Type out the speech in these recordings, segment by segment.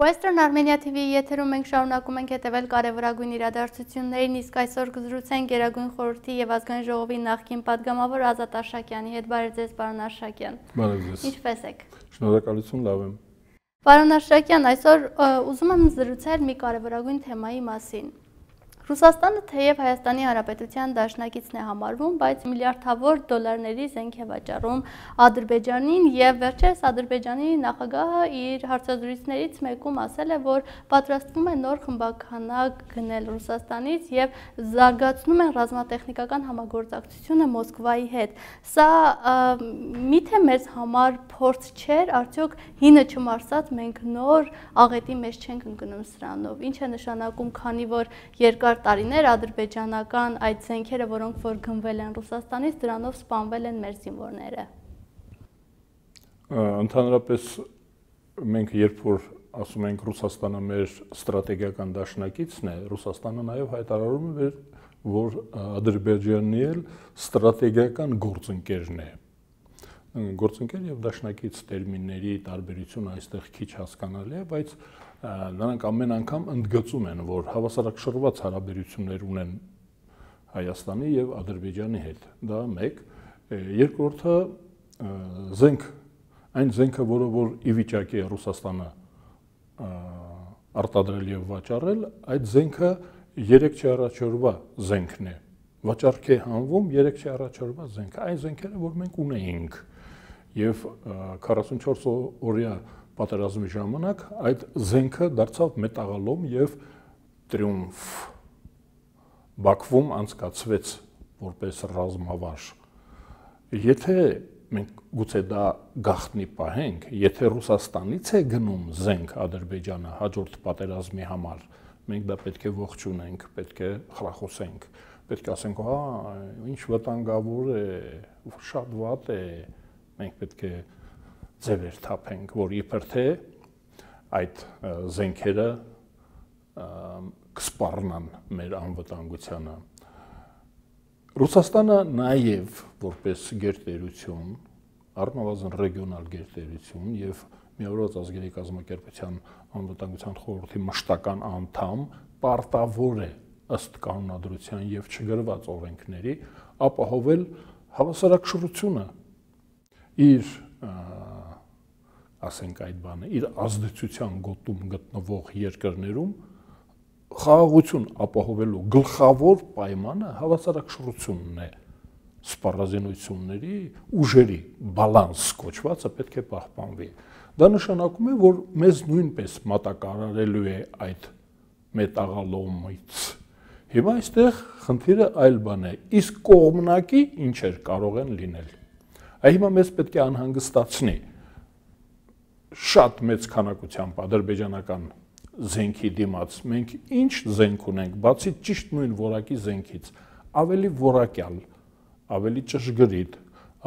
Western Armenia TV-ի եթերում մենք շարունակում ենք հետևել կարևորագույն իրադարձություններին, իսկ այսօր կզրուցենք Գերագույն խորհրդի եւ ազգային ժողովի նախկին падգամավոր Ազատ Արշակյանի հետ։ Բարև ձեզ, պարոն Արշակյան։ Բարև ձեզ։ Ինչպե՞ս եք։ Շնորհակալություն, լավ եմ։ Պարոն Արշակյան, այսօր ուզում եմ զրուցել մի կարևորագույն թեմայի մասին։ Ռուսաստանը թեև Հայաստանի Հանրապետության դաշնակիցն է համարվում, բայց միլիարդավոր դոլարների զենք է վաճառում Ադրբեջանին եւ վերջերս Ադրբեջանի նախագահը իր հարցազրույցներից մեկում ասել է, որ պատրաստվում է նոր խմբականակ գնել Ռուսաստանից եւ զարգացնում են ռազմատեխնիկական համագործակցությունը Մոսկվայի հետ։ Սա միթե մեզ համար փորձ չէր, արդյոք հինը չմարսած մենք նոր աղետի մեջ չենք ընկնում սրանով։ Ինչ է նշանակում, քանի որ երկար տարիներ ադրբեջանական այդ զենքերը, որոնք որ գնվել են Ռուսաստանից, դրանով սպանվել են մեր զինվորները։ Ընդհանրապես մենք երբ որ ասում ենք Ռուսաստանը մեր ստրատեգիական դաշնակիցն է, Ռուսաստանը նաև հայտարարում է, որ Ադրբեջանն էլ ստրատեգիական գործընկերն է։ Գործընկեր եւ դաշնակից տերմինների տարբերությունը այստեղ քիչ հասկանալի է, բայց նրանք ամեն անգամ ընդգծում են, որ հավասարակշռված հարաբերություններ ունեն Հայաստանի եւ Ադրբեջանի հետ։ Դա մեկ, երկրորդը զենք, այն զենքը, որը որ ի վիճակի է Ռուսաստանը արտադրել եւ վաճառել, այդ զենքը 3 առաջորդվա զենքն է։ Վաճառք է հանվում 3 առաջորդվա զենք։ Այն զենքերը, որ մենք ունեինք եւ 44 օրյա պատերազմի ժամանակ այդ զենքը դարձավ մետաղալոմ եւ տրիումֆ Բաքվում անցկացվեց որպես ռազմավար։ Եթե մենք գուցե դա գաղտնի պահենք, եթե Ռուսաստանից է գնում զենք Ադրբեջանը հաջորդ պատերազմի համար, մենք դա պետք է ողջունենք, պետք է խրախուսենք, պետք է ասենք, հա, ինչ վտանգավոր է, շատ վատ է, մենք պետք է ձևեր թափենք, որ իբր թե այդ զենքերը կսպառնան մեր անվտանգությանը։ Ռուսաստանը նաև որպես գերտերություն, առնվազն ռեգիոնալ գերտերություն եւ Միավորված ազգերի կազմակերպության անվտանգության խորհրդի մշտական անդամ պարտավոր է ըստ կանոնադրության եւ չգրված օրենքների ապահովել հավասարակշռությունը իր ասենք այդ բանը, իր ազդեցության գոտում գտնվող երկրներում խաղաղություն ապահովելու գլխավոր պայմանը հավասարակշռությունն է, սպառազինությունների ուժերի բալանս կոչվածը պետք է պահպանվի։ Դա նշանակում է, որ մեզ նույնպես մատակարարելու է այդ մետաղալոմից։ Հիմա այստեղ խնդիրը այլ բան է, իսկ կողմնակի ինչեր կարող են լինել։ Հիմա մեզ պետք է անհանգստացնի շատ մեծ քանակությամբ ադրբեջանական զենքի դիմաց մենք ինչ զենք ունենք, բացի ճիշտ նույն որակի զենքից, ավելի որակյալ, ավելի ճշգրիտ,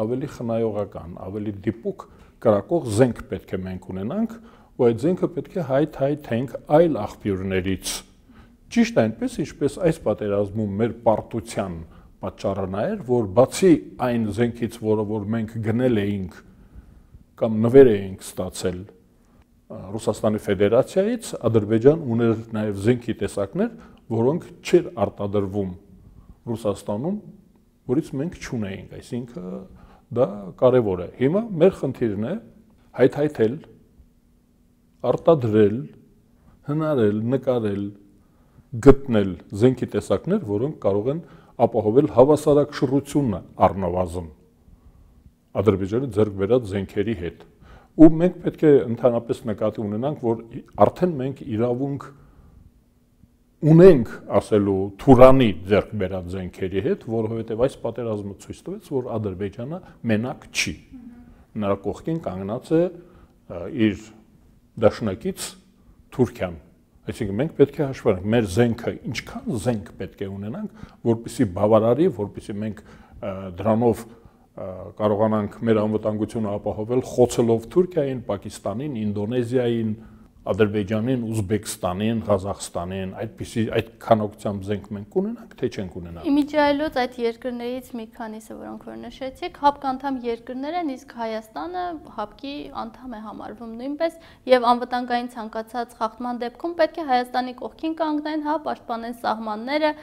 ավելի խնայողական, ավելի դիպուկ կրակող զենք պետք է մենք ունենանք, ու այդ զենքը պետք է հայթենք այլ աղբյուրներից։ Ճիշտ այնպես, ինչպես այս պատերազմում մեր պարտության պատճառը նա էր, որ բացի այն զենքից, որը որ մենք գնել էինք կամ նվեր էինք ստացել Ռուսաստանի Ֆեդերացիայից, Ադրբեջան ուներ նաև զենքի տեսակներ, որոնք չէր արտադրվում Ռուսաստանում, որից մենք չունեինք, այսինքն դա կարևոր է։ Հիմա մեր խնդիրն է հայթայթել, արտադրել, հնարել, նկարել, գտնել զենքի տեսակներ, որոնք կարող են ապահովել հավասարակշռությունը առնվազն Ադրբեջանի ձեռք բերած զենքերի հետ։ Ու մենք պետք է ընդհանրապես նկատի ունենանք, որ արդեն մենք իրավունք ունենք ասելու Թուրանի ձեռք բերած զենքերի հետ, որովհետև այս պատերազմը ցույց տվեց, որ Ադրբեջանը մենակ չի։ Նրա կողքին կանգնած է իր դաշնակից Թուրքիան։ Այսինքն մենք պետք է հաշվենք մեր զենքը, ինչքան զենք պետք է ունենանք, որպեսզի բավարարի, որպեսզի մենք դրանով կարողանանք մեր անվտանգությունը ապահովել խոցելով Թուրքիային, Պակիստանին, Ինդոնեզիային, Ադրբեջանին, Ուզբեկստանին, Ղազախստանին, այդ քանակությամբ զենք մենք կունենանք, թե չենք ունենա։ Իմիջիայլոց այդ երկրներից մի քանիսը, որոնք որ նշեցիք, ՀԱՊԿ անդամ երկրներ են, իսկ Հայաստանը ՀԱՊԿ-ի անդամ է համարվում նույնպես, եւ անվտանգային ցանկացած խախտման դեպքում պետք է Հայաստանի կողքին կանգնեն, հա, պաշտպանեն սահմանները։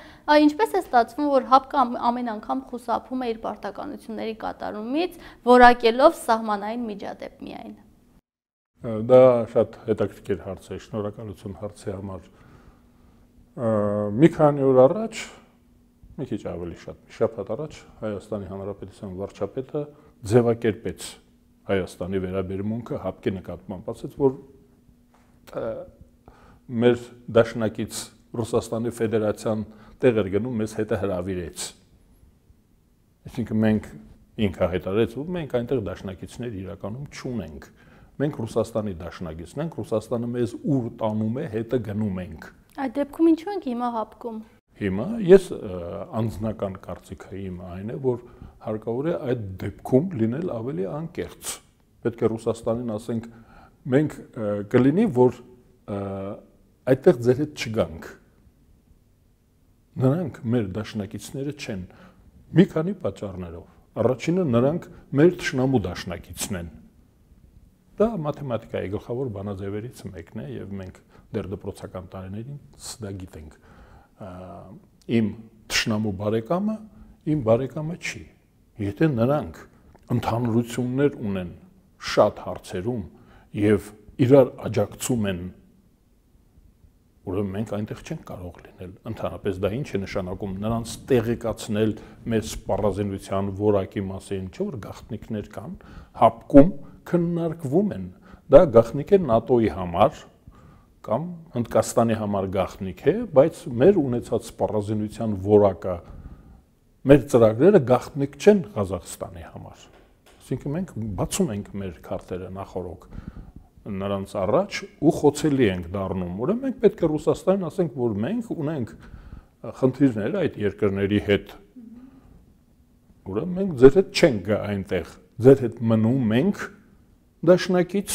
Ինչպես է ստացվում, որ ՀԱՊԿ-ը ամեն անգամ խուսափում է իր պարտականությունների կատարումից, որակելով սահմանային միջադեպ միայն։ Դա շատ հետաքրքիր հարց է, շնորհակալություն հարցի համար։ Մի քանի օր առաջ, մի քիչ ավելի շատ, մի շաբաթ առաջ Հայաստանի Հանրապետության վարչապետը ձևակերպեց Հայաստանի վերաբերմունքը ՀԱՊԿ-ի նկատմամբ, ասաց, որ մեր դաշնակից Ռուսաստանի Ֆեդերացիան տեղ էր գնում, մեզ հետը հրավիրեց։ Այսինքն մենք ինքը հայտարարեց, որ մենք այնտեղ դաշնակիցներ իրականում չունենք։ Մենք Ռուսաստանի դաշնակիցն ենք, Ռուսաստանը մեզ ուր տանում է, հետը գնում ենք։ Այդ դեպքում ինչու ենք հիմա ՀԱՊԿ-ում։ Հիմա ես անձնական կարծիքը իմ այն է, որ հարկավոր է այդ դեպքում լինել ավելի անկեղծ։ Պետք է Ռուսաստանին ասենք, մենք կլինի, որ այդտեղ ձեր հետ չգանք։ Նրանք մեր դաշնակիցները չեն, մի քանի պատճառներով։ Առաջինը նրանք մեր թշնամու դաշնակիցն են։ Դա մաթեմատիկայի գլխավոր բանաձևերից մեկն է եւ մենք դեռ դպրոցական տարիներին դա գիտենք։ Իմ թշնամու բարեկամը իմ բարեկամը չի։ Եթե նրանք ընդհանրություններ ունեն շատ հարցերում եւ իրար աջակցում են, ուրեմն մենք այնտեղ չենք կարող լինել։ Ընդհանրապես դա ինչ է նշանակում նրանց տեղեկացնել մեր սպառազինության որակի մասին, չէ՞ որ գաղտնիքներ կան, ՀԱՊԿ-ում քննարկվում են։ Դա գաղտնիք է ՆԱՏՕ-ի համար կամ Հնդկաստանի համար գաղտնիք է, բայց մեր ունեցած սպառազինության որակը, մեր ծրագրերը գաղտնիք չեն Ղազախստանի համար։ Այսինքն մենք բացում ենք մեր քարտերը նախորոք նրանց առաջ ու խոցելի ենք դառնում։ Ուրեմն մենք պետք է Ռուսաստանին ասենք, որ մենք ունենք խնդիրներ այդ երկրների հետ։ Ուրեմն մենք ձեր հետ չենք գա այնտեղ, ձեր հետ մնում ենք դաշնակից,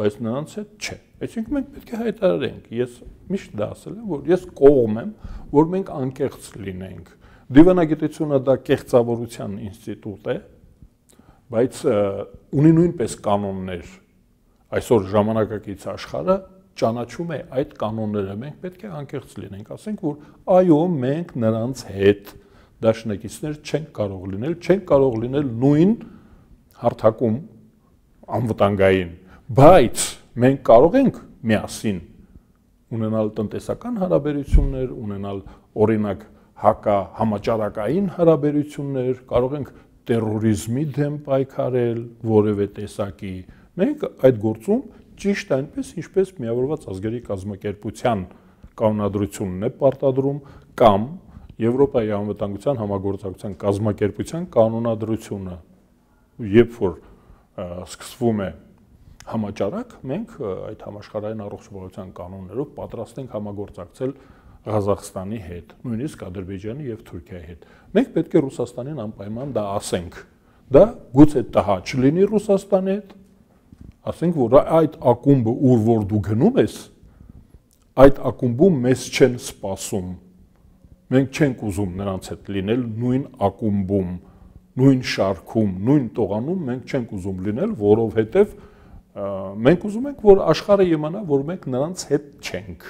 բայց նրանց հետ չէ։ Այսինքն մենք պետք է հայտարարենք, ես միշտ դա ասել եմ, որ ես կողմ եմ, որ մենք անկեղծ լինենք։ Դիվանագիտությունը դա կեղծավորության ինստիտուտ է, բայց ունի նույնպես կանոններ։ Այսօր ժամանակակից աշխարհը ճանաչում է այդ կանոնները, մենք պետք է անկեղծ լինենք, ասենք, որ այո, մենք նրանց հետ դաշնակիցներ չենք կարող լինել, չենք կարող լինել նույն հարթակում անվտանգային, բայց մենք կարող ենք միասին ունենալ տնտեսական հարաբերություններ, ունենալ օրինակ համաճարակային հարաբերություններ, կարող ենք տերորիզմի դեմ պայքարել որևէ տեսակի։ Մենք այդ գործում ճիշտ այնպես, ինչպես Միավորված ազգերի կազմակերպության կանոնադրությունն է պարտադրում կամ Եվրոպայի անվտանգության համագործակցության կազմակերպության կանոնադրությունը, երբ որ սկսվում է համաճարակ, մենք այդ համաշխարհային առողջապահության կանոններով պատրաստ ենք համագործակցել Ղազախստանի հետ, նույնիսկ Ադրբեջանի եւ Թուրքիայի հետ։ Մենք պետք է Ռուսաստանին անպայման դա ասենք։ Դա գուցե տհաճ լինի Ռուսաստանի հետ, ասենք, որ այդ ակումբը, ուր որ դու գնում ես, այդ ակումբում մեզ չեն սպասում։ Մենք չենք ուզում նրանց հետ լինել նույն ակումբում, նույն շարքում, նույն տողանում մենք չենք ուզում լինել, որովհետև մենք ուզում ենք, որ աշխարհը իմանա, որ մենք նրանց հետ չենք,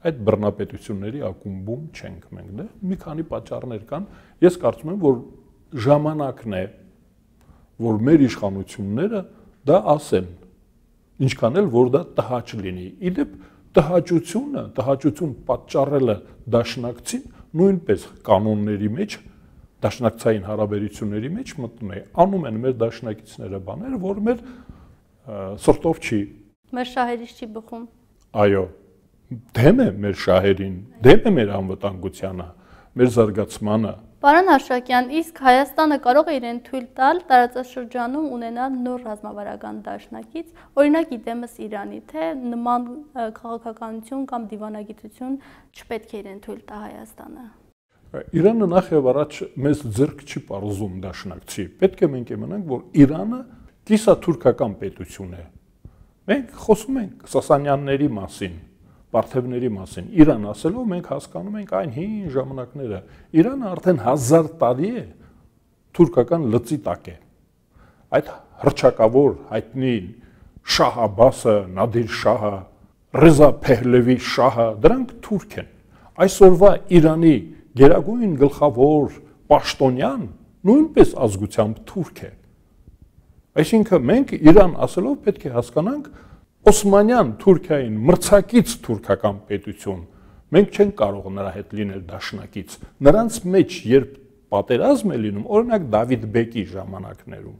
այդ բռնապետությունների ակումբում չենք մենք, դե մի քանի պատճառներ կան, ես կարծում եմ, որ ժամանակն է, որ մեր իշխանությունները դա ասեն, ինչքան էլ որ դա տհաճ լինի։ Իդեպ տհաճություն պատճառելը դաշնակցին նույնպես կանոնների մեջ, դաշնակցային հարաբերությունների մեջ մտնում է, անում են մեր դաշնակիցները բաներ, որ մեր սրտով չի։ Մեր շահերից չի բխում։ Այո, դեմ է մեր շահերին, դեմ է մեր անվտանգությանը, մեր զարգացմանը։ Պարոն Արշակյան, իսկ Հայաստանը կարող է իրեն թույլ տալ տարածաշրջանում ունենալ նոր ռազմավարական դաշնակից, օրինակ իդեմս Իրանի, թե նման քաղաքականություն կամ դիվանագիտություն չպետք է իրեն թույլ տա Հայաստանը։ Իրանը նախ եւ առաջ մեզ ձեռք չի պարզում դաշնակցի։ Պետք է մենք իմանանք, որ Իրանը կիսաթուրքական պետություն է։ Մենք խոսում ենք Սասանյանների մասին, Պարթևների մասին։ Իրան ասելով մենք հասկանում ենք այն հին ժամանակները։ Իրանը արդեն 1000 տարի է թուրքական լծի տակ է։ Այդ հռչակավոր հայտնի Շահ Աբբասը, Նադիր Շահը, Ռեզա Փեհլևի Շահը, դրանք թուրք են։ Այսօրվա Իրանի գերագույն գլխավոր պաշտոնյան նույնպես ազգությամբ թուրք է։ Այսինքն մենք Իրան ասելով պետք է հասկանանք Օսմանյան Թուրքիային մրցակից թուրքական պետություն, մենք չենք կարող նրա հետ լինել դաշնակից։ Նրանց մեջ երբ պատերազմ է լինում, օրինակ Դավիթ Բեկի ժամանակներում,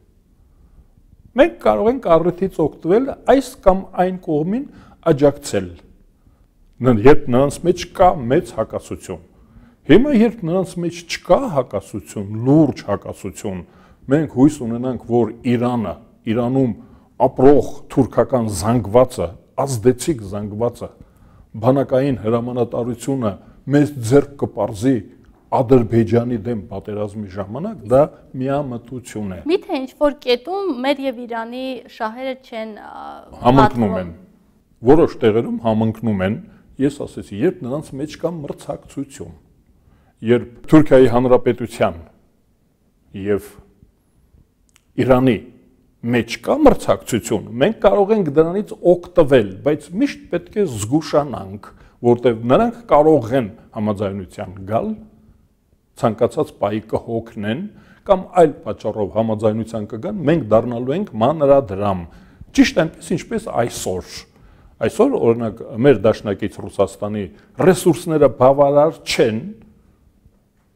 մենք կարող ենք առիթից օգտվել այս կամ այն կողմին աջակցել, երբ նրանց մեջ կա մեծ հակասություն։ Հիմա երբ նրանց մեջ չկա հակասություն, լուրջ հակասություն, մենք հույս ունենանք, որ Իրանում ապրող թուրքական զանգվածը, ազդեցիկ զանգվածը, բանակային հրամանատարությունը մեզ ձեռք կպարզի Ադրբեջանի դեմ պատերազմի ժամանակ, դա միամտություն է։ Միթե ինչ-որ կետում մեր եւ Իրանի շահերը չեն համընկնում են։ Որոշ տեղերում համընկնում են, ես ասեցի, երբ նրանց մեջ կա մրցակցություն, երբ Թուրքիայի Հանրապետության եւ Իրանի մեջ կա մրցակցություն, մենք կարող ենք դրանից օգտվել, բայց միշտ պետք է զգուշանանք, որտեղ նրանք կարող են համաձայնության գալ, ցանկացած պահի կհոգնեն կամ այլ պատճառով համաձայնության կգան, մենք դառնալու ենք մանրադրամ, ճիշտ այնպես ինչպես այսօր։ Այսօր օրինակ մեր դաշնակից Ռուսաստանի ռեսուրսները բավարար չեն,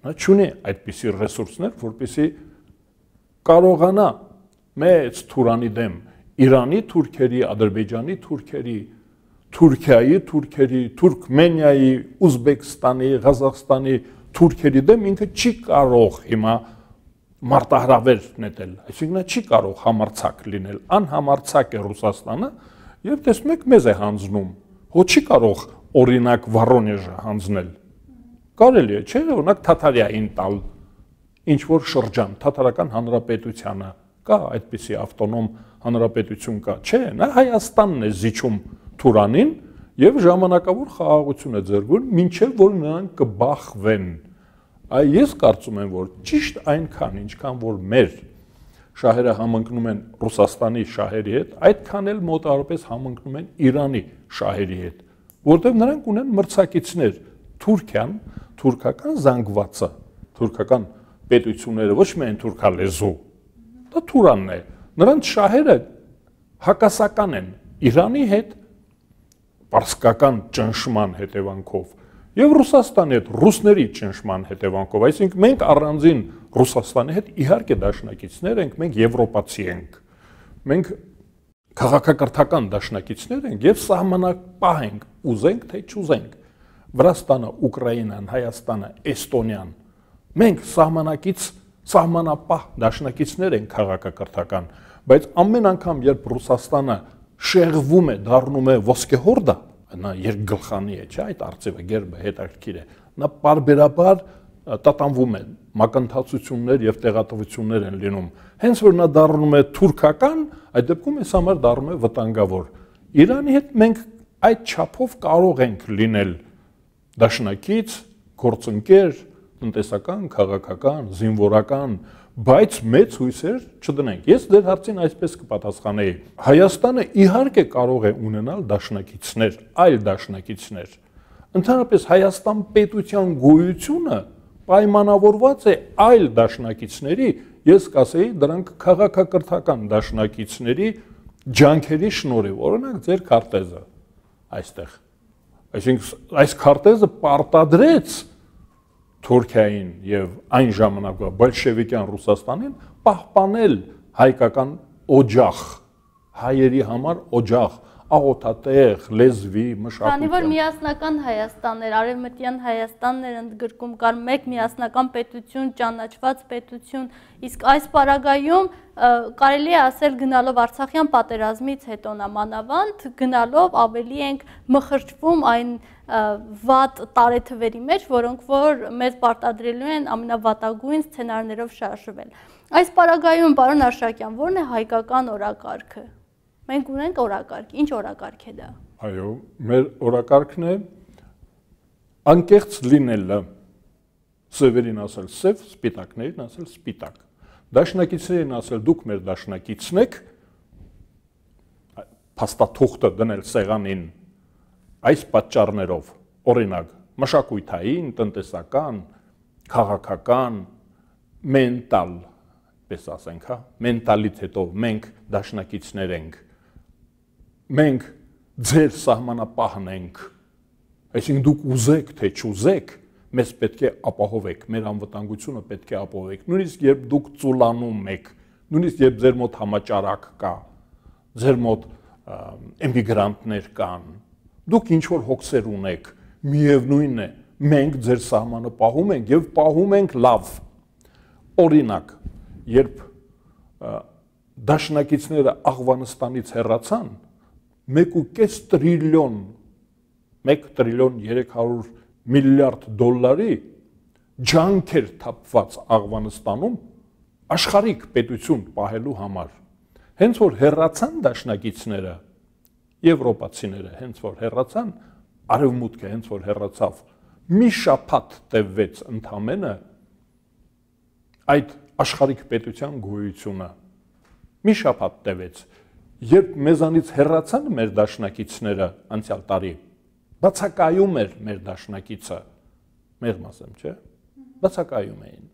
նա չունի այդպիսի ռեսուրսներ, որպեսզի կարողանա մեծ թուրանի դեմ Իրանի թուրքերի, Ադրբեջանի թուրքերի, Թուրքիայի թուրքերի, Թուրքմենիայի, Ուզբեկստանի, Ղազախստանի թուրքերի դեմ ինքը չի կարող հիմա մարտահրավեր նետել, այսինքն չի կարող համարձակ լինել, անհամարձակ է Ռուսաստանը եւ տեսնում եք մեզ է հանձնում, հո չի կարող օրինակ Վորոնեժը հանձնել։ Կարելի է, չէ՞, օրինակ Թաթարիային տալ ինչ որ շրջան, Թաթարական հանրապետությանը կա այդպիսի ավտոնոմ հանրապետություն կա, չէ, նա Հայաստանն է զիջում Թուրանին եւ ժամանակավոր խաղաղություն է ձեռքում, մինչեւ որ նրանք կբախվեն։ Ես կարծում եմ, որ ճիշտ այնքան, ինչքան որ մեր շահերը համընկնում են Ռուսաստանի շահերի հետ, այդքան էլ մոտավորապես համընկնում են Իրանի շահերի հետ, որտեղ նրանք ունեն մրցակիցներ, Թուրքիան, թուրքական զանգվածը, թուրքական պետությունները, ոչ միայն թուրքալեզու, դա Թուրանն է, նրանց շահերը հակասական են Իրանի հետ, պարսկական ճնշման հետևանքով եւ Ռուսաստանի հետ, ռուսների ճնշման հետևանքով, այսինքն մենք առանձին Ռուսաստանի հետ իհարկե դաշնակիցներ ենք, մենք եվրոպացի ենք, մենք քաղաքակրթական դաշնակիցներ ենք եւ սահմանապահ ենք, ուզենք թե չուզենք, Վրաստանը, Ուկրաինան, Հայաստանը, Էստոնիան, մենք սահմանապահ դաշնակիցներ ենք քաղաքակրթական, բայց ամեն անգամ երբ Ռուսաստանը շեղվում է, դառնում է ոսկեհորդա, նա երկգլխանի է, չէ, այդ արծիվը, գերբը հետաքրքիր է, նա պարբերաբար տատանվում է, մակընթացություններ եւ տեղատվություններ են լինում։ Հենց որ նա դառնում է թուրքական, այդ դեպքում այս համար դառնում է վտանգավոր։ Իրանի հետ մենք այդ չափով կարող ենք լինել դաշնակից, գործընկեր, տնտեսական, քաղաքական, զինվորական, բայց մեծ հույսեր չդնենք։ Ես ձեր հարցին այսպես կպատասխանեի. Հայաստանը իհարկե կարող է ունենալ դաշնակիցներ, այլ դաշնակիցներ։ Ընդհանրապես Հայաստան պետության գոյությունը պայմանավորված է այլ դաշնակիցների, ես կասեի, դրանք քաղաքակրթական դաշնակիցների ջանքերի շնորհիվ, օրինակ ձեր քարտեզը այստեղ։ Այսինքն այս քարտեզը պարտադրեց Թուրքիային եւ այն ժամանակվա բոլշևիկյան Ռուսաստանին պահպանել հայկական օջախ, հայերի համար օջախ, աղոթատեղ, լեզվի, մշակույթի։ Քանի որ միասնական Հայաստաններ, արևմտյան Հայաստաններ ընդգրկում կար մեկ միասնական պետություն, ճանաչված պետություն, իսկ այս պարագայում կարելի է ասել գնալով Արցախյան պատերազմից հետո նամանավանդ, գնալով ավելի ենք մխրճվում այն վատ տարեթվերի մեջ, որոնք որ մեզ պարտադրելու են ամենավատագույն սցենարներով շարժվել։ Այս պարագայում, պարոն Արշակյան, ո՞րն է հայկական օրակարգը։ Մենք ունենք օրակարգ, ինչ օրակարգ է դա։ Այո, մեր օրակարգն է անկեղծ լինելը, սևերին ասել սև, սպիտակներին ասել սպիտակ։ Դաշնակիցներին ասել դուք մեր դաշնակիցն եք, փաստաթուղթը դնել սեղանին այս պատճառներով, օրինակ, մշակութային, տնտեսական, քաղաքական, մենտալ, պես ասենք, հա, մենտալիտետով մենք դաշնակիցներ ենք։ Մենք ձեր սահմանապահն ենք, այսինքն դուք ուզեք թե չուզեք, մեզ պետք է ապահովեք, մեր անվտանգությունը պետք է ապահովեք, նույնիսկ երբ դուք ծուլանում եք, նույնիսկ երբ ձեր մոտ համաճարակ կա, ձեր մոտ էմիգրանտներ կան, դուք ինչ-որ հոգսեր ունեք, միևնույն է, մենք ձեր սահմանը պահում ենք և պահում ենք լավ։ Օրինակ, երբ դաշնակիցները Աղվանստանից հեռացան, 1.5 տրիլիոն, 1 տրիլիոն 300 միլիարդ դոլարի ջանք էր թափված Աղվանստանում աշխարհիկ պետություն պահելու համար։ Հենց որ հեռացան դաշնակիցները, եվրոպացիները հենց որ հեռացան, արևմուտքը հենց որ հեռացավ, մի շաբաթ տևեց ընդամենը այդ աշխարհիկ պետության գոյությունը, մի շաբաթ տևեց, երբ մեզանից հեռացան մեր դաշնակիցները անցյալ տարի, բացակայում էր մեր դաշնակիցը, մեղմ ասեմ, չէ, բացակայում էին,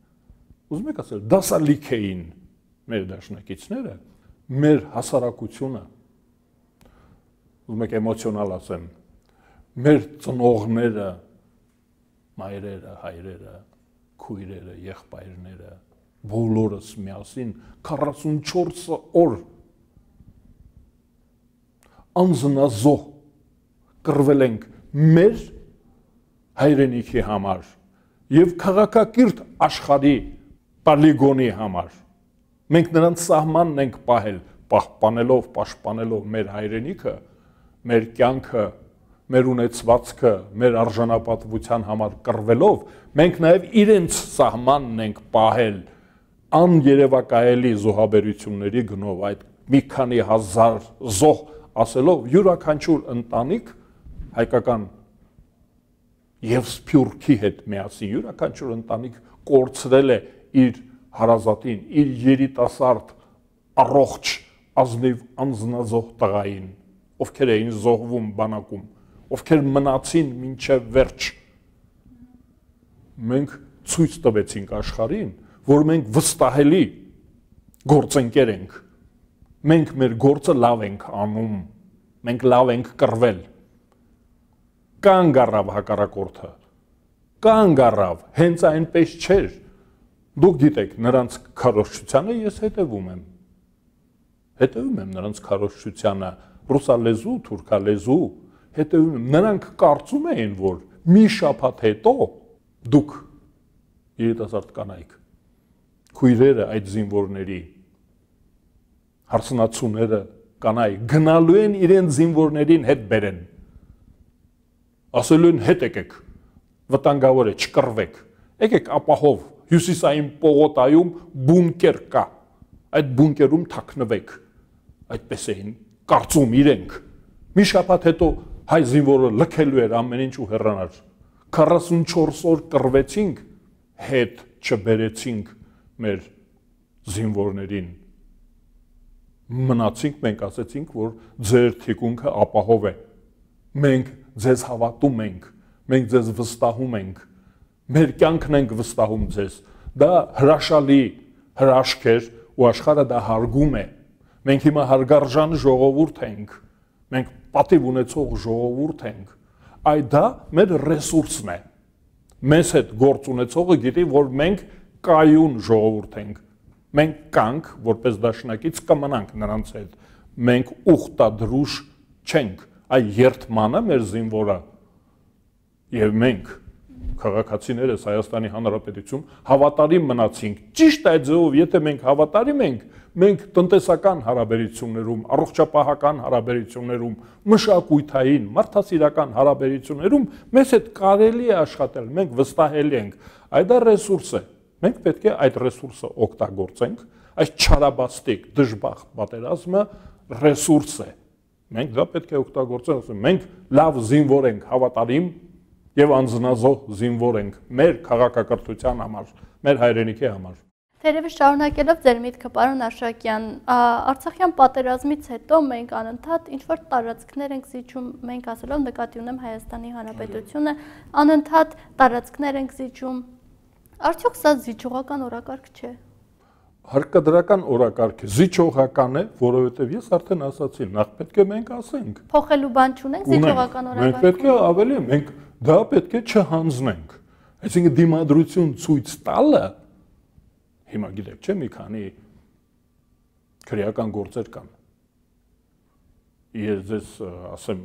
ուզում եք ասել, դասալիք էին մեր դաշնակիցները, մեր հասարակությունը, ուզում եք էմոցիոնալ ասեմ, մեր ծնողները, մայրերը, հայրերը, քույրերը, եղբայրները, բոլորս միասին 44 օր անձնազոհ կռվել ենք մեր հայրենիքի համար և քաղաքակիրթ աշխարհի պոլիգոնի համար։ Մենք նրանց սահմանն ենք պահել, պաշտպանելով մեր հայրենիքը, մեր կյանքը, մեր ունեցվածքը, մեր արժանապատվության համար կռվելով, մենք նաև իրենց սահմանն ենք պահել աներևակայելի զոհաբերությունների գնով, այդ մի քանի հազար զոհ ասելով, յուրաքանչյուր ընտանիք հայկական և սփյուռքի հետ միասին, յուրաքանչյուր ընտանիք կորցրել է իր հարազատին, իր երիտասարդ, առողջ, ազնիվ անձնազոհ տղային, ովքեր էին զոհվում բանակում, ովքեր մնացին մինչև վերջ։ Մենք ցույց տվեցինք աշխարհին, որ մենք վստահելի գործընկեր ենք, մենք մեր գործը լավ ենք անում, մենք լավ ենք կռվել, կանգ առավ հակառակորդը, կանգ առավ, հենց այնպես չէր, դուք գիտեք նրանց քարոզչությանը ես հետևում եմ նրանց քարոզչությանը, ռուսալեզու, թուրքալեզու, հետևում եմ, նրանք կարծում էին, որ մի շաբաթ հետո դուք երիտասարդ կանայք, քույրերը այդ զինվորների, հարսնացուները կանայք գնալու են իրենց զինվորներին հետ բերեն, ասելու են հետ եկեք, վտանգավոր է, չկռվեք, եկեք ապահով, հյուսիսային պողոտայում բունկեր կա, այդ բունկերում թաքնվեք, այդպես էին կարծում իրենք, մի շաբաթ հետո հայ զինվորը լքելու էր ամեն ինչ ու հեռանար, 44 օր կռվեցինք, հետ չբերեցինք մեր զինվորներին, մնացինք, մենք ասեցինք, որ ձեր թիկունքը ապահով է, մենք ձեզ հավատում ենք, մենք ձեզ վստահում ենք, մեր կյանքն ենք վստահում ձեզ, դա հրաշալի հրաշք էր ու աշխարհը դա հարգում է, մենք հիմա հարգարժան ժողովուրդ ենք, մենք պատիվ ունեցող ժողովուրդ ենք, այդ դա մեր ռեսուրսն է, մեզ հետ գործ ունեցողը գիտի, որ մենք կայուն ժողովուրդ ենք, մենք կանք, որպես դաշնակից կմնանք նրանց հետ, մենք ուխտադրուժ չենք, այ երդմանը մեր զինվորը և մենք, քաղաքացիներս Հայաստանի Հանրապետություն, հավատարիմ մնացինք, ճիշտ այդ ձևով, եթե մենք հավատարիմ ենք, մենք տնտեսական հարաբերություններում, առողջապահական հարաբերություններում, մշակութային, մարդասիրական հարաբերություններում մեզ հետ կարելի է աշխատել, մենք վստահելի ենք, այդ դա ռեսուրս է, մենք պետք է այդ ռեսուրսը օգտագործենք, այս չարաբաստիկ, դժբախտ պատերազմը ռեսուրս է։ Մենք դա պետք է օգտագործենք, ասում մենք լավ զինվոր ենք, հավատարիմ եւ անձնազոհ զինվոր ենք մեր քաղաքակրթության համար, մեր հայրենիքի համար։ Թերևս շարունակելով ձեր միտքը, պարոն Աշակյան, Արցախյան պատերազմից հետո մենք անընդհատ ինչ-որ տարածքներ ենք զիջում, մենք ասելով նկատի ունեմ Հայաստանի Հանրապետությունը, անընդհատ տարածքներ ենք զիջում։ Արդյոք սա զիջողական օրակարգ չէ։ Հարկադրական օրակարգ է, զիջողական է, որովհետև ես արդեն ասացի, նախ պետք է մենք ասենք։ Փոխելու բան չունենք զիջողական օրակարգ։ Մենք պետք է ավելի, մենք դա պետք է չհանձնենք։ Այսինքն դիմադրություն ցույց տալը, հիմա գիտեք, չէ՞, մի քանի քրեական գործեր կան։ Ես ձեզ ասեմ,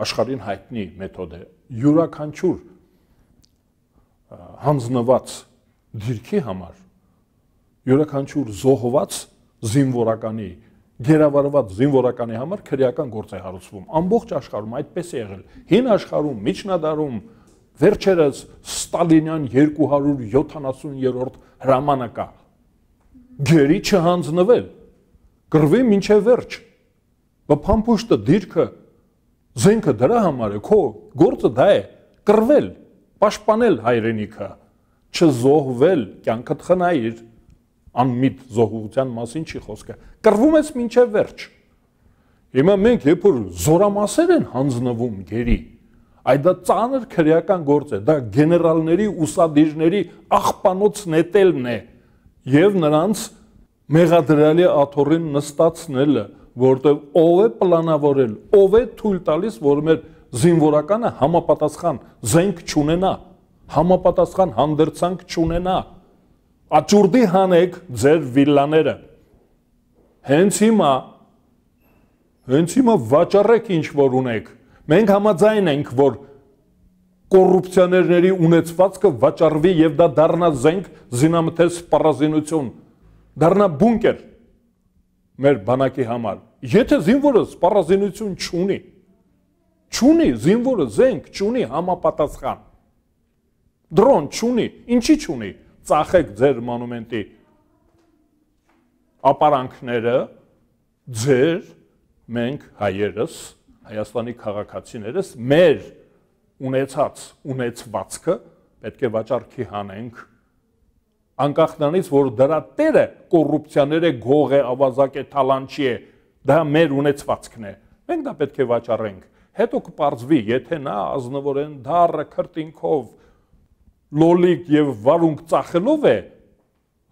աշխարհին հայտնի մեթոդ է։ Յուրաքանչյուր հանձնված դիրքի համար, յուրաքանչյուր զոհված զինվորականի, գերավարված զինվորականի համար քրեական գործ է հարուցվում։ Ամբողջ աշխարհում այդպես է եղել։ Հին աշխարհում, միջնադարում, վերջերս Ստալինյան 270-րդ հրամանակա գերի չհանձնվել, կռվի մինչև վերջ։ Բփամփուշտը դիրքը զենքը դրա համար է, քո գործը դա է, կռվել, պաշտպանել հայրենիքը, չզոհվել, կյանքդ խնայիր, անմիտ զոհության մասին չի խոսքը, կռվում ես մինչև վերջ։ Հիմա մենք երբ որ զորամասեր են հանձնվում գերի, այդ դա ծանր քրեական գործ է, դա գեներալների, ուսադիրների աղբանոց նետելն է եւ նրանց մեղադրյալի աթոռին նստացնելը, որտեղ ով է պլանավորել, ով է թույլ տալիս, որ մեր զինվորականը համապատասխան զենք չունենա, համապատասխան հանդերձանք չունենա։ Աճուրդի հանեք ձեր վիլլաները։ Հենց հիմա վաճառեք ինչ որ ունեք։ Մենք համաձայն ենք, որ կոռուպցիաներների ունեցվածքը վաճառվի եւ դա դառնա զենք, զինամթեր սպառազինություն, դառնա բունկեր մեր բանակի համար։ Եթե զինվորը սպառազինություն չունի զինվորը զենք չունի համապատասխան, դրոն չունի, ինչի չունի, ծախեք ձեր մանումենտի ապարանքները, ձեր, մենք հայերս, Հայաստանի քաղաքացիներս մեր ունեցվածքը պետք է վաճառքի հանենք, անկախ նրանից, որ դրա տերը կոռուպցիաներ է, գող է, ավազակ է, թալանչի է, դա մեր ունեցվածքն է, մենք դա պետք է վաճառենք, հետո կպարզվի, եթե նա ազնվորեն դառը քրտինքով, լոլիկ եւ վարունգ ծախելով է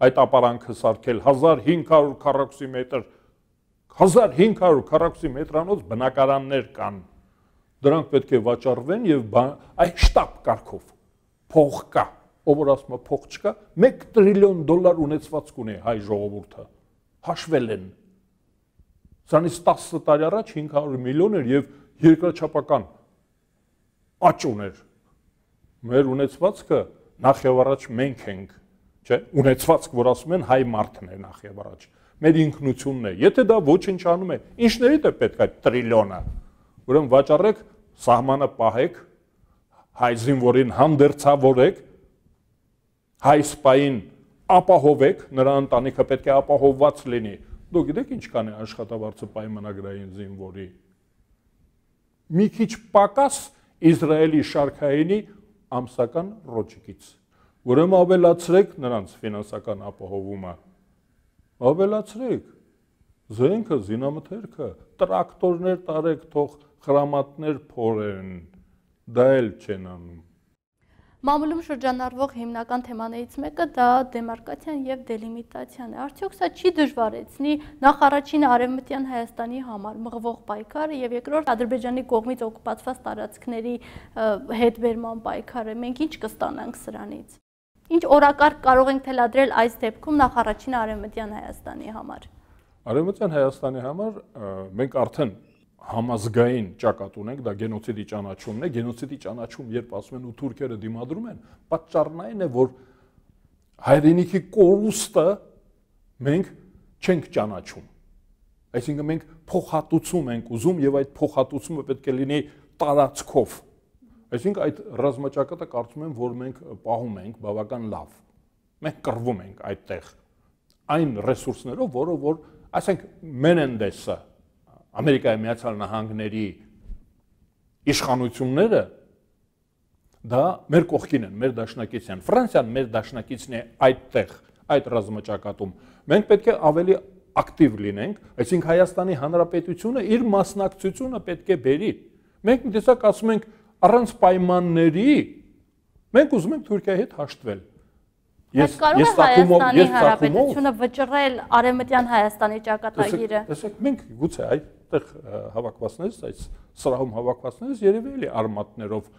այդ ապարանքը սարքել 1500 քառակուսի մետր 1500 քառակուսի մետրանոց բնակարաններ կան, դրանք պետք է վաճառվեն եւ այդ շտապ կարգով փող կա, ով որ ասում է փող չկա, $1 տրիլիոն ունեցվածք ունի հայ ժողովուրդը, հաշվել են, սրանից 10 տարի առաջ 500 միլիոն էր եւ երկրաչափական աճ ուներ, մեր ունեցվածքը նախ եւ առաջ մենք ենք, չէ, ունեցվածք, որ ասում են հայ մարդն է նախ եւ առաջ, մեր ինքնությունն է, եթե դա ոչնչանում է, ինչներիդ է պետք այդ տրիլիոնը, ուրեմն վաճառեք, սահմանը պահեք, հայ զինվորին հանդերձավորեք, հայ սպային ապահովեք, նրա ընտանիքը պետք է ապահովված լինի, դուք գիտեք ինչքան է աշխատավարձը պայմանագրային զինվորի, մի քիչ պակաս Իսրայելի շարքայինի ամսական ռոճիկից, ուրեմն ավելացրեք նրանց ֆինանսական ապահովումը, ավելացրեք, զենքը, զինամթերքը, տրակտորներ տարեք, թող խրամատներ փորեն, դա էլ չեն անում։ Մամուլում շրջանառվող հիմնական թեմաներից մեկը դա դեմարկացիան եւ դելիմիտացիան է։ Արդյոք սա չի դժվարեցնի նախ առաջինը արևմտյան Հայաստանի համար մղվող պայքարը եւ երկրորդ Ադրբեջանի կողմից օկուպացված տարածքների հետ բերման պայքարը։ Մենք ինչ կստանանք սրանից։ Ինչ օրակարգ կարող ենք թելադրել այս դեպքում նախ առաջինը արևմտյան Հայաստանի համար։ Արևմտյան Հայաստանի համար մենք արդեն համազգային ճակատ ունենք, դա գենոցիդի ճանաչումն է, գենոցիդի ճանաչում, երբ ասում են ու թուրքերը դիմադրում են, պատճառն այն է, որ հայրենիքի կորուստը մենք չենք ճանաչում։ Այսինքն մենք փոխհատուցում ենք ուզում եւ այդ փոխհատուցումը պետք է լինի տարածքով։ Այսինքն այդ ռազմաճակատը կարծում եմ, որ մենք պահում ենք բավական լավ։ Մենք կռվում ենք այդտեղ այն ռեսուրսներով, որը որ, ասենք Մենենդեսը Ամերիկայի Միացյալ Նահանգների իշխանությունները դա մեր կողքին են, մեր դաշնակիցն են։ Ֆրանսիան մեր դաշնակիցն է այդտեղ, այդ ռազմաճակատում։ Մենք պետք է ավելի ակտիվ լինենք, այսինքն Հայաստանի Հանրապետությունը իր մասնակցությունը պետք է բերի։ Մենք մի տեսակ ասում ենք առանց պայմանների մենք ուզում ենք Թուրքիայի հետ հաշտվել։ Ես Հայաստանի Հանրապետությունը վճռել Արևմտյան Հայաստանի ճակատագիրը։ Տեսեք, մենք գուցե այդտեղ հավաքվածներից, այս սրահում հավաքվածներից երևի էլի արմատներով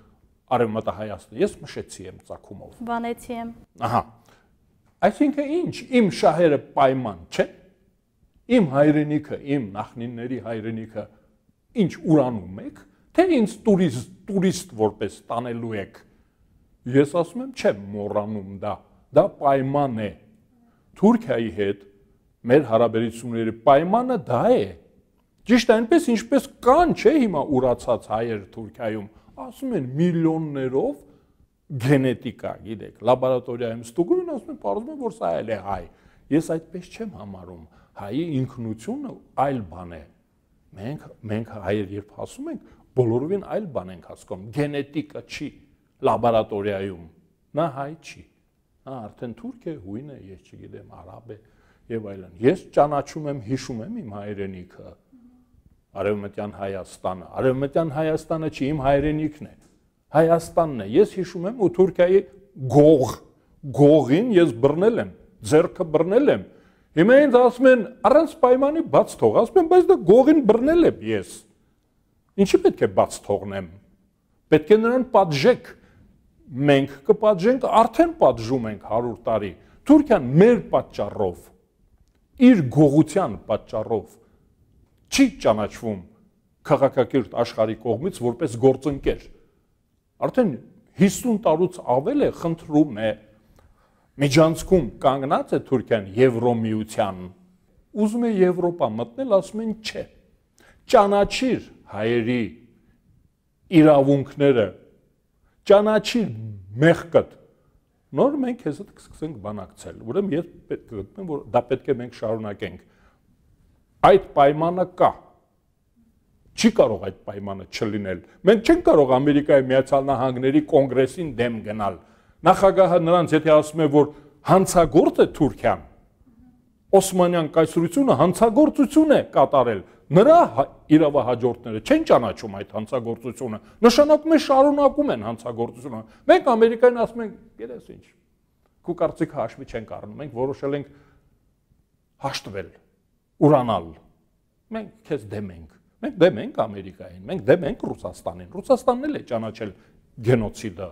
Արևմտահայաստան, ես մշեցի եմ ծագումով։ Վանեցի եմ։ Ահա։ Այսինքն ինչ, իմ շահերը պայման չեն։ Իմ հայրենիքը, իմ նախնիների հայրենիքը ինչ ուրանում եք, թե ինձ տուրիստ որպես տանելու եք։ Ես ասում եմ, չեմ մոռանում դա պայման է։ Թուրքիայի հետ մեր հարաբերությունների պայմանը դա է։ Ճիշտ այնպես, ինչպես կան, չէ, հիմա ուրացած հայեր Թուրքիայում, ասում են միլիոններով գենետիկա, գիտեք, լաբորատորիայում ստուգում են, ասում են, պարզվում է, որ սա էլ է հայ։ Ես այդպես չեմ համարում։ Հայի ինքնությունը այլ բան է։ Մենք հայեր երբ ասում ենք, բոլորովին այլ բան ենք հասկանում։ Գենետիկա չի լաբորատորիայում։ Նա հայ չի։ Նա արդեն թուրք է, հույն է, ես չգիտեմ, արաբ է եւ այլն։ Ես ճանաչում եմ, հիշում եմ իմ հայրենիքը։ Արևմտյան Հայաստանը։ Արևմտյան Հայաստանը չի, իմ հայրենիքն է։ Հայաստանն է։ Ես հիշում եմ ու Թուրքիայի գողին ես բռնել եմ, ձեռքը բռնել եմ։ Հիմա ինձ ասում են առանց պայմանի բաց թող, ասում են, բայց դա գողին բռնել եմ ես։ Ինչի պետք է բաց թողնեմ։ Պետք է նրան պատժեք։ Մենք կպատժենք, արդեն պատժում ենք 100 տարի։ Թուրքիան մեր պատճառով, իր գողության պատճառով չի ճանաչվում քաղաքակիրթ աշխարհի կողմից որպես գործընկեր։ Արդեն 50 տարուց ավել է խնդրում է միջանցքում կանգնած է Թուրքիան Եվրոմիության։ Ուզում է Եվրոպա մտնել, ասում են չէ։ Ճանաչիր հայերի իրավունքները, ճանաչիր մեղքդ։ Նոր մենք քեզ հետ կսկսենք բանակցել։ Ուրեմն ես գտնեմ, որ դա պետք է մենք շարունակենք։ Այդ պայմանը կա։ Չի կարող այդ պայմանը չլինել։ Մենք չենք կարող Ամերիկայի Միացյալ Նահանգների կոնգրեսին դեմ գնալ։ Նախագահը նրանց եթե ասում է, որ հանցագործ է Թուրքիան, Օսմանյան կայսրությունը հանցագործություն է կատարել, նրա իրավահաջորդները չեն ճանաչում այդ հանցագործությունը, նշանակում է շարունակում են հանցագործությունը։ Մենք Ամերիկային ասում ենք, գիտես ինչ, քո կարծիքը հաշվի չենք առնում, մենք որոշել ենք հաշտվել, ուրանալ։ Մենք քեզ դեմ ենք։ Մենք դեմ ենք Ամերիկային, մենք դեմ ենք Ռուսաստանին։ Ռուսաստանն էլ է ճանաչել գենոցիդը։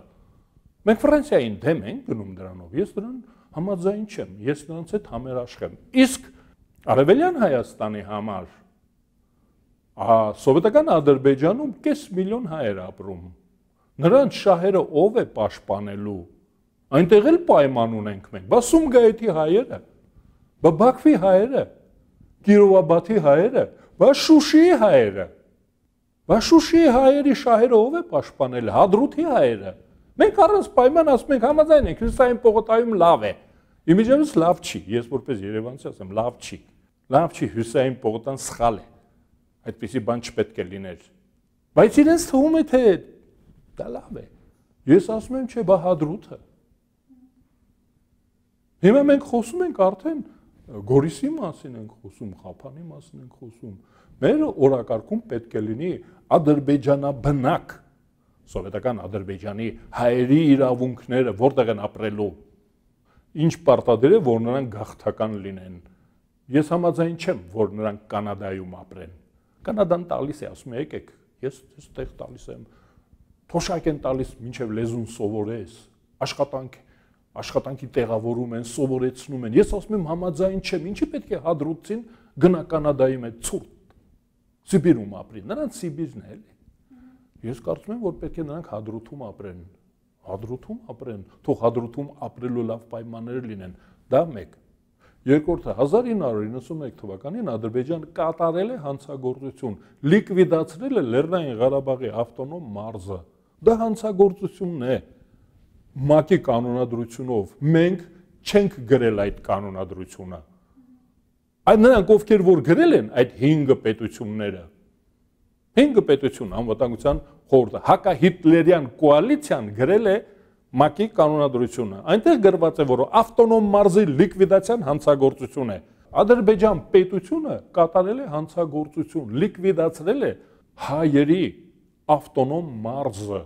Մենք Ֆրանսիային դեմ ենք գնում դրանով։ Ես դրան համաձայն չեմ, ես նրանց հետ համերաշխ եմ։ Իսկ Արևելյան Հայաստանի համար սովետական Ադրբեջանում կես միլիոն հայեր ապրում։ Նրանց շահերը ով է պաշտպանելու։ Այնտեղ էլ պայման ունենք մենք։ Բա Սումգայիթի հայերը, բա Բաքվի հայերը, Կիրովաբադի հայերը, բա Շուշիի հայերը։ Բա Շուշիի հայերի շահերը ով է պաշտպանել, Հադրութի հայերը։ Մենք առանց պայման ասում ենք համաձայն ենք, Հյուսիսային պողոտայում լավ է։ Իմիջիայլոց լավ չի, ես որպես երևանցի ասեմ, լավ չի։ Լավ չի, Հյուսիսային պողոտան սխալ է։ Այդպիսի բան չպետք է լիներ։ Բայց իրենց թվում է թե դա լավ է։ Ես ասում եմ, չէ, բա Հադրութը։ Հիմա մենք խոսում ենք արդեն Գորիսի մասին ենք խոսում, Ղափանի մասին ենք խոսում։ Մեր օրակարգում պետք է լինի ադրբեջանաբնակ սովետական Ադրբեջանի հայերի իրավունքները որտեղ են ապրելու, ինչ պարտադիր է, որ նրանք գաղթական լինեն։ Ես համաձայն չեմ, որ նրանք Կանադայում ապրեն։ Կանադան տալիս է, ասում է, եկեք, ես այստեղ տալիս եմ, թոշակ են տալիս, մինչև լեզուն սովորես, աշխատանքի տեղավորում են, սովորեցնում են։ Ես ասում եմ համաձայն չեմ, ինչի պետք է Հադրութին գնա Կանադայի մեջ ցուրտ Սիբիրում ապրի, նրանց Սիբիրն է էլի։ Ես կարծում եմ, որ պետք է նրանք Հադրութում ապրեն, թող Հադրութում ապրելու լավ պայմաններ լինեն, դա մեկ։ Երկրորդը 1991 թվականին Ադրբեջանը կատարել է հանցագործություն, լիկվիդացրել է Լեռնային Ղարաբաղի ավտոնոմ մարզը։ Դա հանցագործությունն է ՄԱԿ-ի կանոնադրությունով։ Մենք չենք գրել այդ կանոնադրությունը։ Այդ նրանք ովքեր որ գրել են այդ 5 պետությունները 5 պետություն անվտանգության խորհուրդը հակահիտլերյան կոալիցիան գրել է ՄԱԿ-ի կանոնադրությունը։ Այնտեղ գրված է, որ ավտոնոմ մարզի լիկվիդացիան հանցագործություն է։ Ադրբեջան պետությունը կատարել է հանցագործություն, լիկվիդացրել է հայերի ավտոնոմ մարզը։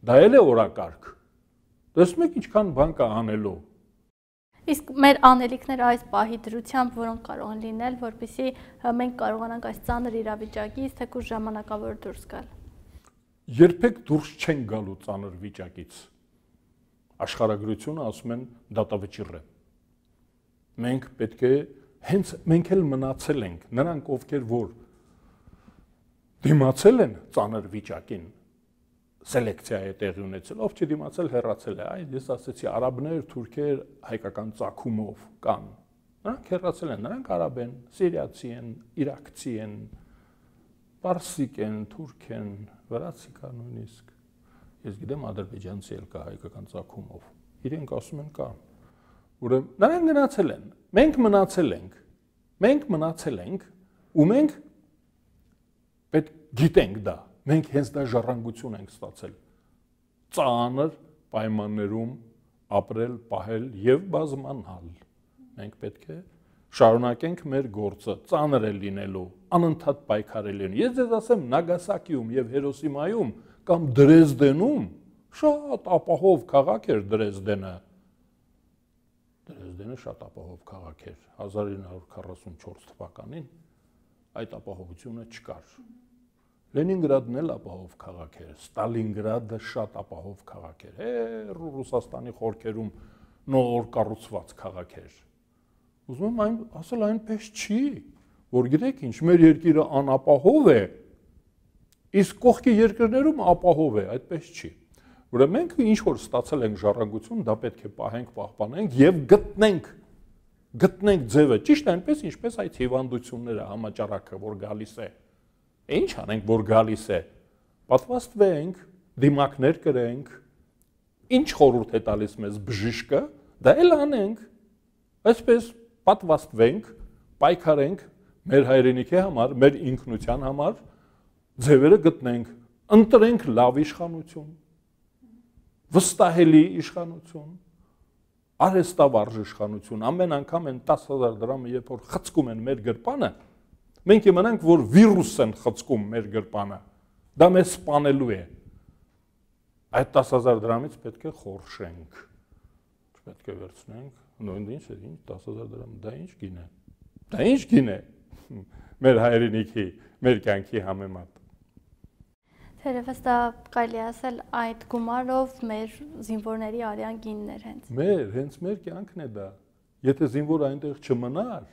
Դա էլ է օրակարգ։ Տեսնում եք ինչքան բան կա անելու։ Իսկ մեր անելիքները այս պահի դրությամբ որոնք կարող են լինել, որպեսզի մենք կարողանանք այս ծանր իրավիճակից թեկուզ ժամանակավոր դուրս գալ։ Երբեք դուրս չեն գալու ծանր վիճակից։ Աշխարհագրությունը ասում են դատավճիռ է։ Մենք պետք է հենց մենք էլ մնացել ենք, նրանք ովքեր որ դիմացել են ծանր վիճակին, սելեկցիա է տեղի ունեցել, ով չդիմացել հեռացել է, այ ես ասեցի արաբներ, թուրքեր հայկական ծագումով կան։ Նրանք հեռացել են, նրանք արաբ են, սիրիացի են, իրաքցի են, պարսիկ են, թուրք են, վրացի կա նույնիսկ։ Ես գիտեմ ադրբեջանցի էլ կա հայկական ծագումով։ Իրենք ասում են կան։ Ուրեմն նրանք գնացել են, մենք մնացել ենք։ Մենք մնացել ենք ու մենք պետք գիտենք դա։ Մենք հենց դա ժառանգություն ենք ստացել։ Ծանր պայմաններում ապրել, պահել եւ բազմանալ։ Մենք պետք է շարունակենք մեր գործը, ծանր է լինելու, անընդհատ պայքարել են։ Ես ձեզ ասեմ, Նագասակիում եւ Հիրոսիմայում կամ Դրեզդենում շատ ապահով քաղաք էր Դրեզդենը։ Դրեզդենը շատ ապահով քաղաք էր 1944 թվականին այդ ապահովությունը չկար։ Լենինգրադն էլ ապահով քաղաք էր, Ստալինգրադը շատ ապահով քաղաք էր, Ռուսաստանի խորքերում նոր կառուցված քաղաք էր։ Ուզում եմ ասել այնպես չի, որ գիտեք ինչ, մեր երկիրը անապահով է, իսկ կողքի երկրներում ապահով է, այդպես չի։ Ուրեմն մենք ինչ որ ստացել ենք ժառանգություն, դա պետք է պահենք, պահպանենք եւ գտնենք ձևը, ճիշտ այնպես ինչպես այդ հիվանդությունները, համաճարակը, որ գալիս է։ Ինչ անենք, որ գալիս է, պատվաստվենք, դիմակներ կրենք, ինչ խորհուրդ է տալիս մեզ բժիշկը, դա էլ անենք, այսպես պատվաստվենք, պայքարենք մեր հայրենիքի համար, մեր ինքնության համար, ձևերը գտնենք, ընտրենք լավ իշխանություն, վստահելի իշխանություն, արհեստավարժ իշխանություն, ամեն անգամ են 10,000 դրամը երբ որ խցկում են մեր գրպանը, մենք իմանանք, որ վիրուս են խցկում մեր գրպանը, դա մեզ սպանելու է, այդ 10,000 դրամից պետք է խորշենք, չպետք է վերցնենք, նույն ինչ է, 10,000 դրամ, դա ինչ գին է, դա ինչ գին է, մեր հայրենիքի, մեր կյանքի համեմատ։ Թերևս դա կարելի ասել այդ գումարով մեր զինվորների արյան գիններ հենց։ Հենց մեր կյանքն է դա, եթե զինվոր այնտեղ չմնար,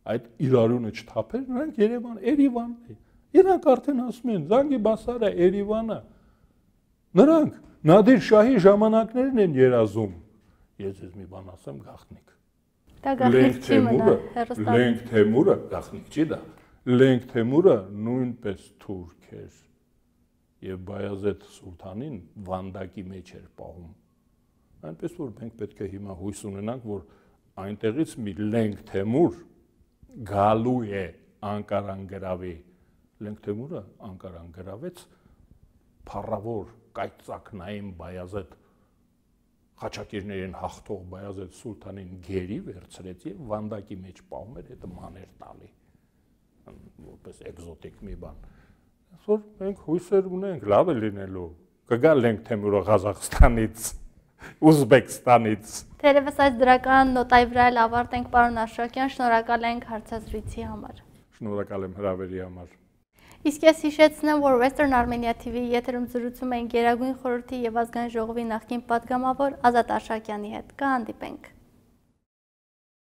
այդ իրարյունը չթափեր, նրանք Երևանն է, իրանք արդեն ասում են, Զանգիբասարը, Երևանը, նրանք Նադիր Շահի ժամանակներն են երազում, ես ես մի բան ասեմ, գաղտնիք։ Դա գաղտնիք չի մնա, Լենգ Թեմուրը, գաղտնիք չի դա, Լենգ Թեմուրը նույնպես թուրք էր և Բայազեդ Սուլթանին վանդակի մեջ էր պահում, այնպես որ մենք պետք է հիմա հույս ունենանք, որ այնտեղից մի Լենգ Թեմուր գալու է Անկարան գրավի, Լենգ Թեմուրը Անկարան գրավեց փառավոր կայծակնային Բայազեդ խաչակիրներին հաղթող Բայազեդ Սուլթանին գերի վերցրեց եւ վանդակի մեջ պահում էր, հետո մաներ տալի, որպես էկզոտիկ մի բան։ Այսօր մենք հույսեր ունենք, լավ է լինելու, կգա Լենգ Թեմուրը Ղազախստանից, Ուզբեկստանից։ Թերևս այս դրական նոտայի վրա էլ ավարտենք, պարոն Աշրակյան, շնորհակալ ենք հարցազրույցի համար։ Շնորհակալ եմ հրավերի համար։ Իսկ ես հիշեցնեմ, որ Western Armenia TV-ի եթերում զրուցում ենք Գերագույն խորհրդի եւ ազգային ժողովի նախկին պատգամավոր Ազատ Աշրակյանի հետ։ Կհանդիպենք։